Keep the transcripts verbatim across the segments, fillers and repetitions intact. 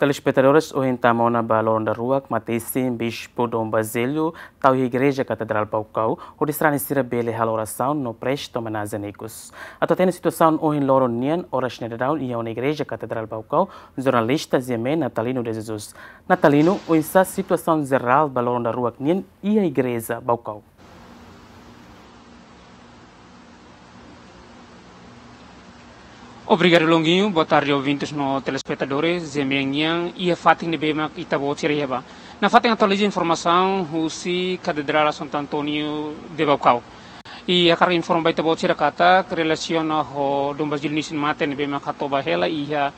Telespetadores, ohin tama ona ba loron daruak mate-isin Bispu Dom Basílio tau iha Igreja Katedrál Baucau, hodi sarani sira bele halo orasaun no presta omenajen ikus. Atu hatene situasaun ohin loron nian, oras ne'e daudaun iha ona Igreja Katedrál Baucau, jornalista GMN Natalino de Jesus. Natalino, oinsá situasaun jerál ba loron daruak nian iha Igreja Baucau? Obrigadu, Longuinho. Boa tarde, ouvintes no telespetadores. GMN nian, iha fatin ne'ebé mak ita-boot sira iha ba. Nafatin atualiza informasaun husi Katedrál Santo António de Baucau. I hakarak informa ba ita-boot sira katak relasiona ho Dom Basílio nia isin-mate ne'ebé mak hato'o ba hela iha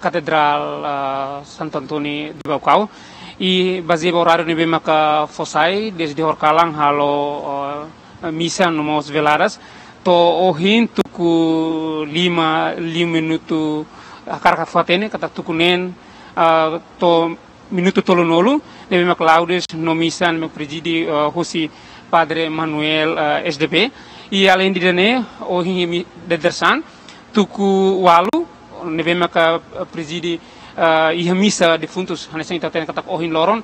Katedrál, ah, Santo António de Baucau. I bazeia ba oráriu ne'ebé maka fó sai, dezde horikalan halo, ah, misa no mós veladas. To'o ohin tuku lima, lima minutu, hakarak fó hatene katak tuku neen, ah, to'o minutu tolunulu, ne'ebé mak laudes no misa ne'ebé mak prezide, ah, husi Padre Manuel, ah, S D B. I aleinde ida-ne'e, ohin mi-, dadeer-saan, tuku ualu, ne'ebé maka, ah, prezide, ah, iha misa defuntus, hanesan ita hatene katak ohin loron,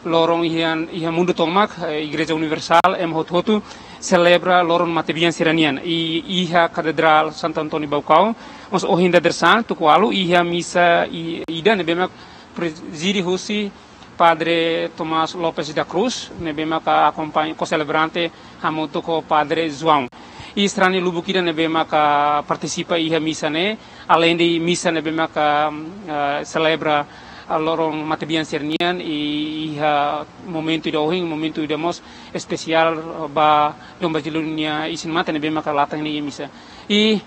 loron iha, iha mundu tomak, eh, Igreja Universál, ema hotu-hotu, selebra loron matebian sira-nian. I, iha Katedrál Santo António Baucau, mós ohin dadeer-saan, tuku ualu, iha misa i-, ida ne'ebé mak prezide husi Padre Tomás Lopes da Cruz, ne'ebé maka akompaña ko-selebrante hamutuk ho Padre João. I sarani lubuk ida ne'ebé maka partisipa iha misa ne'e, aleinde misa ne'ebé maka, eh, selebra, eh, loron matebian sira-nian, i iha momentu ida ohin, momentu ida mós espesiál, eh, ba Dom Basílio nia isin-mate ne'ebé maka latan iha misa. I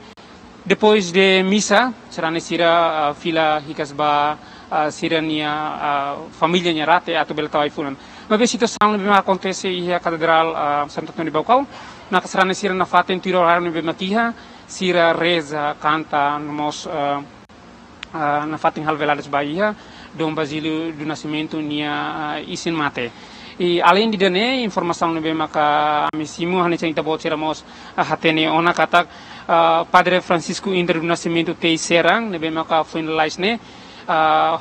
depois de misa, sarani sira, ah, fila hikas ba, ah, sira-nia, ah, família nia rate atu bele tau ai-funan. Maibé situasaun ne'ebé mak akontese iha Katedrál, ah, Santo António de Baucau, maka sarani sira nafatin tuir oráriu ne'ebé mak iha, sira reza, kanta, no mós, ah, ah, nafatin halo veladas ba iha Dom Basílio do Nascimento nia, ah, isin-mate. I aleinde ida-ne'e, informasaun ne'ebé maka ami simu, hanesan ita-boot sira mós, ah, hatene ona katak, ah, Padre Francisco Indra do Nascimento Teixeira, ne'ebé maka foin lalais ne'e, ah,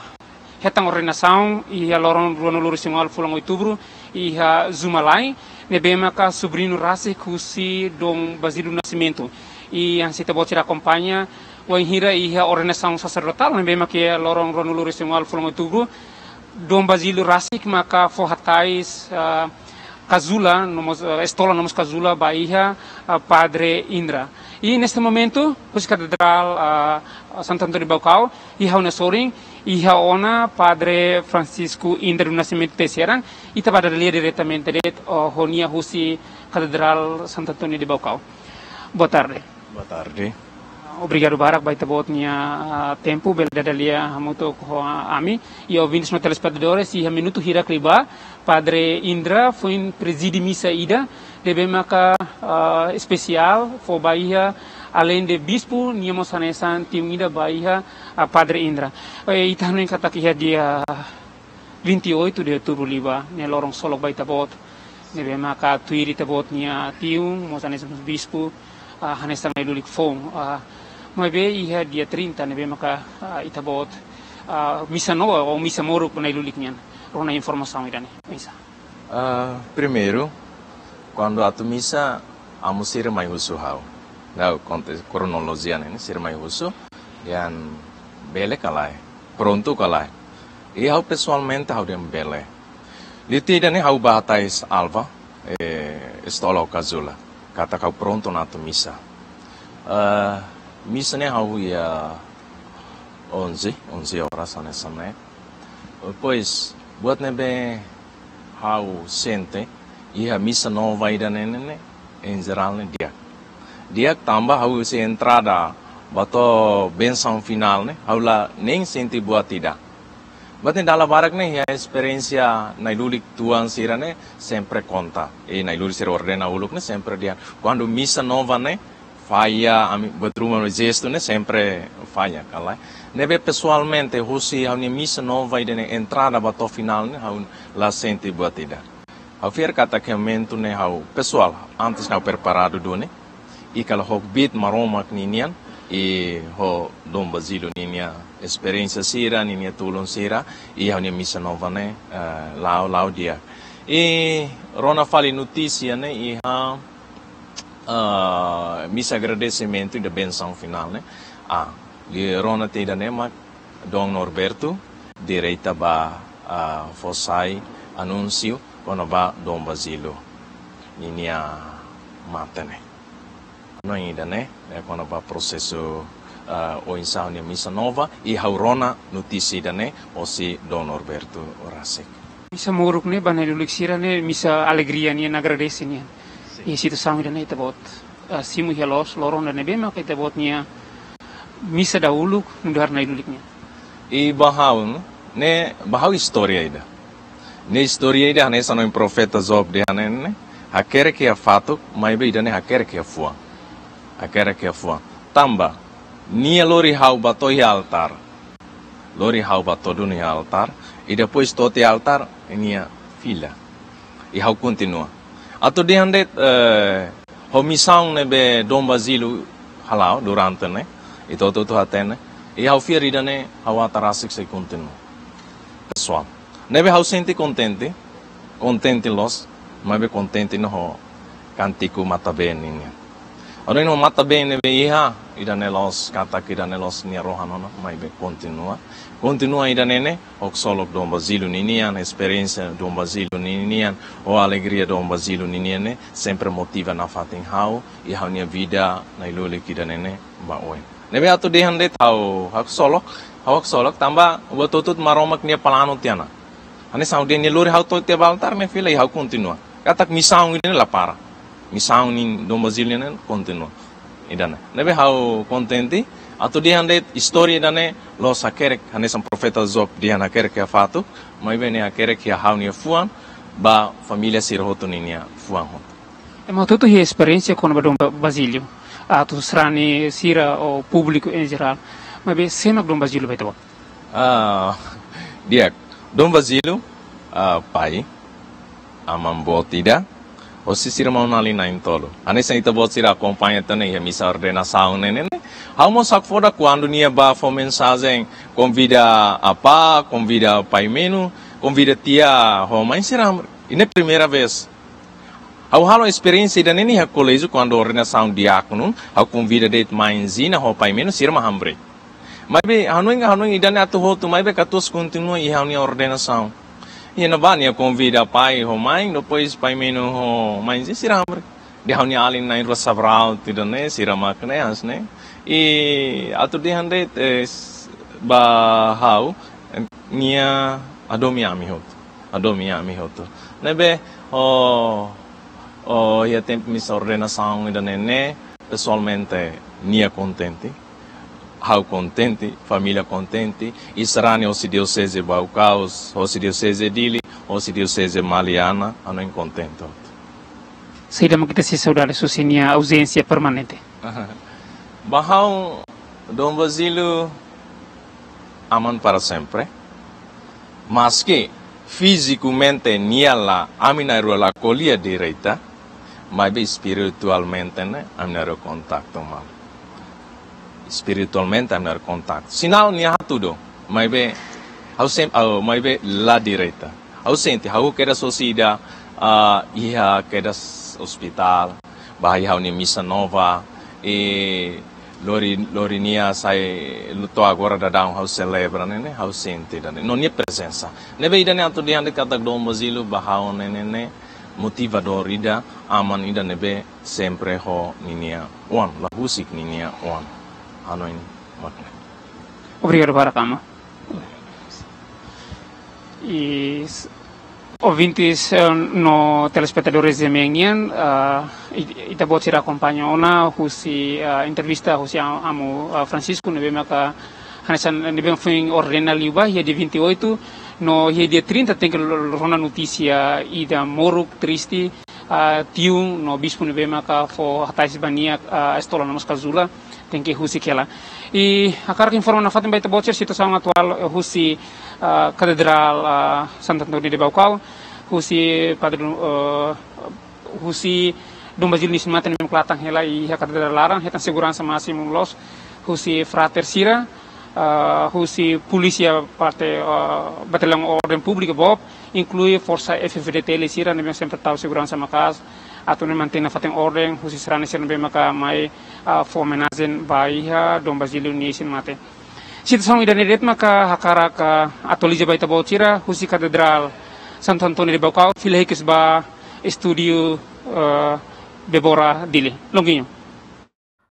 hetan ordenasaun iha loron ruanulu-resin-ualu fulan Outubru, iha Zumalai, ne'ebé maka sobriñu rasik husi Dom Basílio do Nascimento. I hanesan ita-boot sira akompaña, wainhira iha ordenasaun saserdotál ne'ebé maka iha loron ruanulu-resin-ualu fulan Outubru, Dom Basílio rasik maka fó hatais, ah, kazula, no mós, ah, estola no mós kazula ba iha, ah, Padre Indra. I neste momentu, husi Katedrál, ah, Santo António de Baucau, iha ha'u-nia sorin, iha ona Padre Francisco Indra do Nascimento Teixeira, ita bá dada lia diretamente de'it, oh, ho nia husi Katedrál Santo António de Baucau. Boa tarde. Boa tarde. Obrigadu barak ba ita-boot nia, ah, tempu, bele dada lia hamutuk ho, ah, ami. I ouvintes no telespetadores, iha minutu hirak liubá, Padre Indra foin prezide misa ida ne'ebé maka, ah, espesiál fó ba iha, aleinde bispu, nia mós hanesan tiun ida ba iha, ah, Padre Indra. Eh, ita hanoin katak iha dia vinte e oito de outubro liubá, ne'e loron ksolok ba ita-boot, ne'ebé maka tuir ita-boot nia tiun, mós hanesan bispu, ah, hanesan nai lulik foun, ah, maibé iha dia trinta ne'ebé maka, ah, ita-boot, ah, misa nova ou misa moruk nai lulik nian. Rona informasaun ida-ne'e. Misa. Ah, primeiru, kuandu atu misa, amu sira mai husu ha'u. Ha'u konta kronolojia ne'e, sira mai husu, dehan bele ka lae, prontu ka lae. I ha'u pesoalmente ha'u dehan bele. Liu tiha ida-ne'e ha'u bá hatais alva, eh, estola ho kazula. Katak ha'u prontu ona atu misa. Eh, misa ne'e ha'u iha onze, onze horas hanesan ne'e. Depois, buat ne'ebé ha'u sente, iha misa nova ida-ne'e ne'e, em geral ne'e di'ak. Di'ak tanba ha'u husi entrada ba to'o bensaun finál ne'e, ha'u la nein sente buat ida. Buat ne'e dala barak ne'e, iha esperiénsia nai lulik tuan sira ne'e, sempre konta. I nai lulik sira ordena uluk ne'e, sempre dehan. Kuandu misa nova ne'e, falla, ami buat ruma no jestu ne'e sempre falla, ka lae. Ne'ebé pesoalmente, husi ha'u-nia misa nova ida-ne'e entrada ba to'o finál ne'e, ha'u la sente buat ida. Ha'u fiar katak iha momentu ne'e ha'u pesoál, antes ne'e ha'u preparadu duni, i kala ho kbiit Maromak ninian, i ho Dom Basílio ninia esperiénsia sira, ninia tulun sira, i ha'u-nia misa nova ne'e, eh, la'o, la'o di'ak. I rona fali notísia ne'e iha, eh, misa agradesimentu ida bensaun finál ne'e. Ah, liu rona tiha ida-ne'e mak Dom Norberto, direta ba, ah, fó sai anúnsiu kona-ba Dom Basílio ninia mate ne'e. No ida-ne'e, eh, kona-ba prosesu, ah, oinsá ha'u-nia misa nova, i ha'u rona notísia ida-ne'e hosi Dom Norberto rasik. Misa moruk ne'e, ba nai-lulik sira ne'e, misa alegria nian, agradese nian. Sin. I situasaun ida-ne'e ita-boot, ah, simu iha loos, loron ida-ne'ebé maka ita-boot nia misa dahuluk, nu'udar nai-lulik nian. I ba ha'u, ne'e, ba ha'u istória ida. Ne'e istória ida hanesan ohin profeta Job dehan ne'e, hakerek iha fatuk, maibé ida-ne'e hakerek iha fuan. Hakerek iha fuan. Tanba, nia lori ha'u ba to'o iha altár. Lori ha'u ba to'o duni iha altár. I depois to'o tiha altár, nia fila. I ha'u kontinua. Atu dehan de'it, eh, ho misaun ne'ebé Dom Basílio hala'o durante ne'e, ita hotu-hotu hatene, i ha'u fiar ida-ne'e ha'u ata rasik sei kontinua. Pesoál. Ne'ebé ha'u sente kontente, kontente loos, maibé kontente no ho kántiku matabeen nian. Ha'u hanoin ho matabeen ne'ebé iha, ida-ne'e loos, katak ida-ne'e loos nia rohan ona, maibé kontinua. Kontinua ida-ne'e ne'e, haksolok Dom Basílio ninian, esperiénsia Dom Basílio ninian, ho alegria Dom Basílio ninian ne'e, sempre motiva nafatin ha'u, i ha'u-nia vida nai-lulik ida-ne'e ne'e, ba oin. Ne'ebé atu dehan de'it ha'u haksolok, ha'u haksolok, tanba buat hotu-hotu Maromak nia planu tiha ona. Hanesan ha'u dehan nia lori ha'u to'o tiha ba altár ne'e fila i ha'u kontinua. Katak misaun ida-ne'e la para. Misaun ne'e Dom Basílio ne'e kontinua. Ida-ne'e. Ne'ebé ha'u kontente, atu dehan de'it istória ida-ne'e loos hakerek, hanesan profeta Job dehan hakerek iha fatuk, maibé ne'e hakerek iha ha'u-nia fuan, ba família sira hotu ninia fuan hotu. Ema hotu-hotu iha esperiénsia kona-ba Dom Ba-, Basílio, atu sarani sira ou públiku em geral. Maibé sé mak Dom Basílio ba ita-boot? Ah, di'ak. Dom Basílio, ah, pai, aman boot ida, hosi sira maun-alin na'in-tolu. Hanesan ita-boot sira akompaña tiha ona iha misa ordenasaun ne'e, ne'e, ne'e. Ha'u mós hakfodak kuandu nia bá fó mensajen, konvida apá, konvida pai menu, konvida tia ho mãe sira. I ne'e primeira vez. Ha'u halo esperiénsia ida-ne'e iha koléjiu kuandu ordenasaun diákonu, ha'u konvida de'it mãe Zina ho pai menu sira mak hamriik. Maibé hanoin, hanoin ida-ne'e atu hotu, maibé katuas kontinua iha ha'u-nia ordenasaun. Iha ne'ebá nia konvida pai ho mãe, depois pai menu ho mãe Zina sira hamriik. Dehan ha'u-nia alin na'in-rua Sabraut ida-ne'e, sira mak ne'e, hanesan ne'e. I atu dehan de'it, eh, s-, ba ha'u, eh, nia hadomi ami hotu. Hadomi ami hotu. Ne'ebé, oh, oh, iha tempu misa ordenasaun ida-ne'e ne'e, pesoalmente nia kontente, ha'u kontente, família kontente, i sarani hosi dioseze Baucau, hosi dioseze Dili, hosi dioseze Maliana, ha'u hanoin kontente hotu. Saida mak ita sei saudade husi nia auzénsia permanente? Ba ha'u, Dom Basílio, aman para sempre. Maski fizikamente nia la, ami na'in-rua la ko'alia direta, maibé espiritualmente ne'e, ami na'in-rua kontaktu malu. Espiritualmente ami na'in-rua kontaktu. Sinál nia hatudu, maibé, ha'u sem-, ha'u, maibé la direta. Ha'u sente, ha'u kedas hosi ida, ah, iha kedas ospitál, bá iha ha'u-nia misa nova, i lori, lori nia sai to'o agora daudaun ha'u selebra ne'e, ne'e, ha'u sente ida-ne'e. No nia prezensa. Ne'ebé ida-ne'e atu dehan de'it katak Dom Basílio ba ha'u ne'e, ne'e, ne'e, motivadór ida, aman ida ne'ebé sempre ho ninia oan, la husik ninia oan. Ha'u hanoin mak ne'e. Obrigadu barak, aman. I s-, ouvintes, eh, no telespetadores de Mean nian, ah, i-, ita-boot sira akompaña ona husi, ah, entrevista husi a-, amu, ah, Francisco, ne'ebé maka hanesan ne'ebé foin ordena liubá iha dia vinte e oito, no iha dia trinta tenke lo-, lo-, rona notísia ida moruk, triste, ah, tiun no bispu ne'ebé maka fó hatais ba nia, ah, estola no mós kazula, tenke husik hela. I hakarak informa nafatin ba ita-boot sira situasaun atuál, eh, husi, ah, Katedrál, ah, Santo António de Baucau, husi Padre, eh, husi Dom Basílio nia mate ne'e mak la tan hela iha Katedrál laran, hetan seguransa másimu loos. husi frater sira, ah, husi polísia parte, ah, Bataliaun Orden Públika boot, inklui forsa F-FDTL sira ne'ebé sempre tau seguransa maka'as atu nune'e mantein nafatin orden husi sarani sira ne'ebé maka mai, ah, fó omenajen ba iha Dom Basílio nia isin-mate. Situasaun ida-ne'e de'it maka hakarak atualiza ba ita-boot sira husi Katedrál Santo António de Baucau, fila hikas ba estúdiu, ah, Débora Dili. Longuinho.